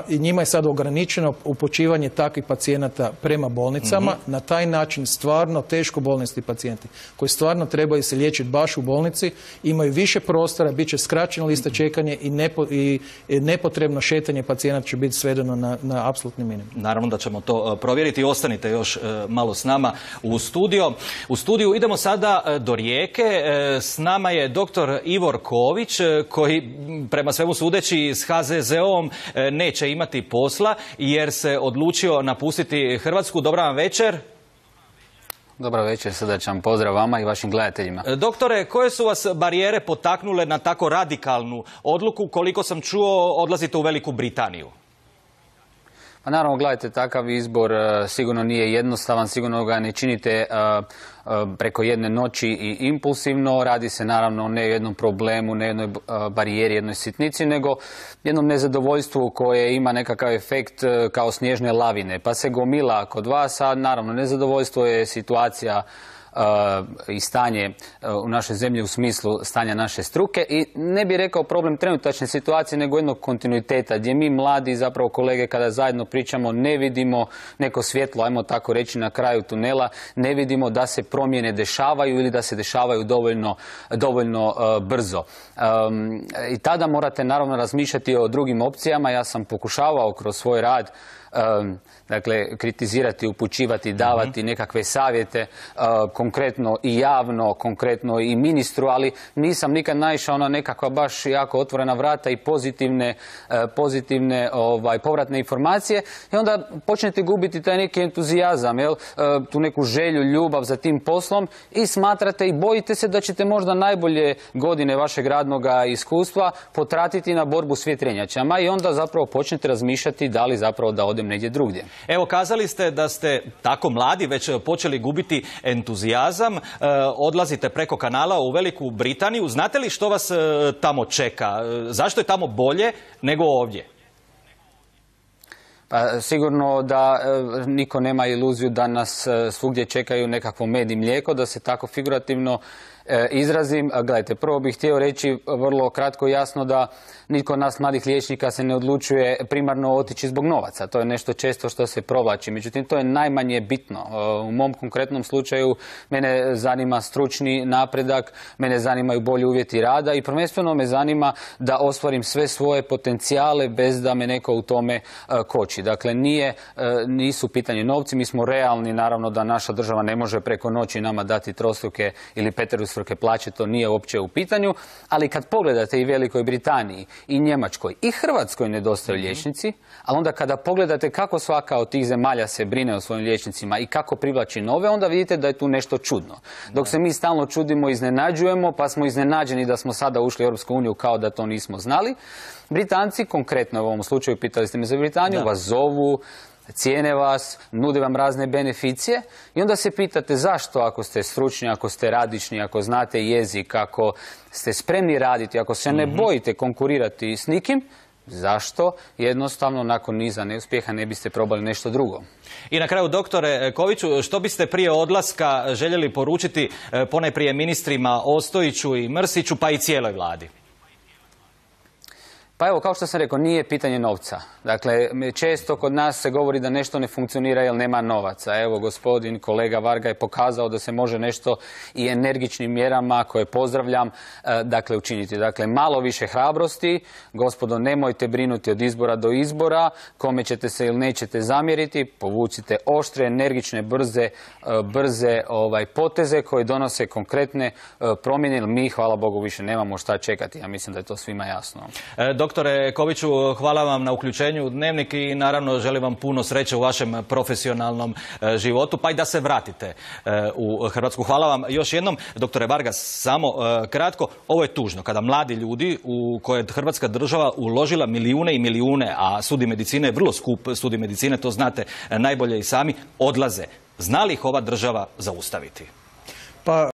Njima je sad ograničeno upućivanje takvih pacijenata prema bolnicama. Na taj način stvarno teško bolesni pacijenti koji stvarno trebaju se liječiti baš u bolnici imaju više prostora, bit će skraćena lista čekanja i nepotrebno šetanje pacijenata će biti svedeno na apsolutni minimum. Naravno da ćemo to provjeriti. Ostanite još malo s nama u studiju. Idemo sada do Rijeke. S nama je dr. Ivor Ković koji prema svemu sudeći s HZZO-om neće imati posla jer se odlučio napustiti Hrvatsku. Dobra vam večer. Dobro večer, srdačan pozdrav vama i vašim gledateljima. Doktore, koje su vas barijere potaknule na tako radikalnu odluku? Koliko sam čuo, odlazite u Veliku Britaniju. Pa naravno, gledajte, takav izbor sigurno nije jednostavan, sigurno ga ne činite preko jedne noći i impulsivno. Radi se naravno ne o jednom problemu, ne jednoj barijeri, jednoj sitnici, nego jednom nezadovoljstvu koje ima nekakav efekt kao snježne lavine. Pa se gomila kod vas, a naravno nezadovoljstvo je situacija i stanje u našoj zemlji u smislu stanja naše struke i ne bih rekao problem trenutačne situacije nego jednog kontinuiteta gdje mi mladi zapravo kolege kada zajedno pričamo ne vidimo neko svjetlo, ajmo tako reći, na kraju tunela, ne vidimo da se promjene dešavaju ili da se dešavaju dovoljno brzo. I tada morate naravno razmišljati o drugim opcijama. Ja sam pokušavao kroz svoj rad dakle, kritizirati, upućivati, davati nekakve savjete, konkretno i javno, konkretno i ministru, ali nisam nikad naišao na nekakva baš jako otvorena vrata i pozitivne povratne informacije i onda počnete gubiti taj neki entuzijazam, tu neku želju, ljubav za tim poslom i smatrate i bojite se da ćete možda najbolje godine vašeg radnog iskustva potratiti na borbu s vjetrenjačama i onda zapravo počnete razmišljati da li zapravo da odem negdje drugdje. Evo, kazali ste da ste tako mladi već počeli gubiti entuzijazam, odlazite preko kanala u Veliku Britaniju. Znate li što vas tamo čeka? Zašto je tamo bolje nego ovdje? Pa sigurno da niko nema iluziju da nas svugdje čekaju nekakvo med i mlijeko, da se tako figurativno izrazim. Gledajte, prvo bih htio reći vrlo kratko i jasno da nitko od nas mladih liječnika se ne odlučuje primarno otići zbog novaca. To je nešto često što se provlači. Međutim, to je najmanje bitno. U mom konkretnom slučaju mene zanima stručni napredak, mene zanimaju bolji uvjeti rada i prvenstveno me zanima da ostvarim sve svoje potencijale bez da me neko u tome koči. Dakle, nisu pitanje novci, mi smo realni, naravno da naša država ne može preko noći nama dati trostruke ili peterostruke plaće, to nije uopće u pitanju, ali kad pogledate i Velikoj Britaniji, i Njemačkoj, i Hrvatskoj nedostaju liječnici, ali onda kada pogledate kako svaka od tih zemalja se brine o svojim liječnicima i kako privlači nove, onda vidite da je tu nešto čudno. Dok se mi stalno čudimo i iznenađujemo, pa smo iznenađeni da smo sada ušli u Europsku uniju kao da to nismo znali, Britanci, konkretno u ovom slučaju, pitali ste me za Britaniju, vas zovu, cijene vas, nude vam razne beneficije i onda se pitate zašto, ako ste stručni, ako ste radični, ako znate jezik, ako ste spremni raditi, ako se ne bojite konkurirati s nikim, zašto jednostavno nakon niza neuspjeha ne biste probali nešto drugo? I na kraju, doktore Koviću, što biste prije odlaska željeli poručiti ponajprije ministrima Ostojiću i Mrsiću, pa i cijeloj vladi? Pa evo, kao što sam rekao, nije pitanje novca. Dakle, često kod nas se govori da nešto ne funkcionira jer nema novaca. Evo, gospodin kolega Varga je pokazao da se može nešto i energičnim mjerama, koje pozdravljam, dakle, učiniti. Dakle, malo više hrabrosti. Gospodo, nemojte brinuti od izbora do izbora. Kome ćete se ili nećete zamjeriti, povucite oštre, energične, brze poteze koje donose konkretne promjene, jer mi, hvala Bogu, više nemamo šta čekati. Ja mislim da je to svima jasno. Doktore Koviću, hvala vam na uključenju u Dnevnik i naravno želim vam puno sreće u vašem profesionalnom životu, pa i da se vratite u Hrvatsku. Hvala vam još jednom. Doktore Vargas, samo kratko, ovo je tužno kada mladi ljudi u koje je Hrvatska država uložila milijune i milijune, a studij medicine je vrlo skup studij medicine, to znate najbolje i sami, odlaze. Zna li ih ova država zaustaviti? Pa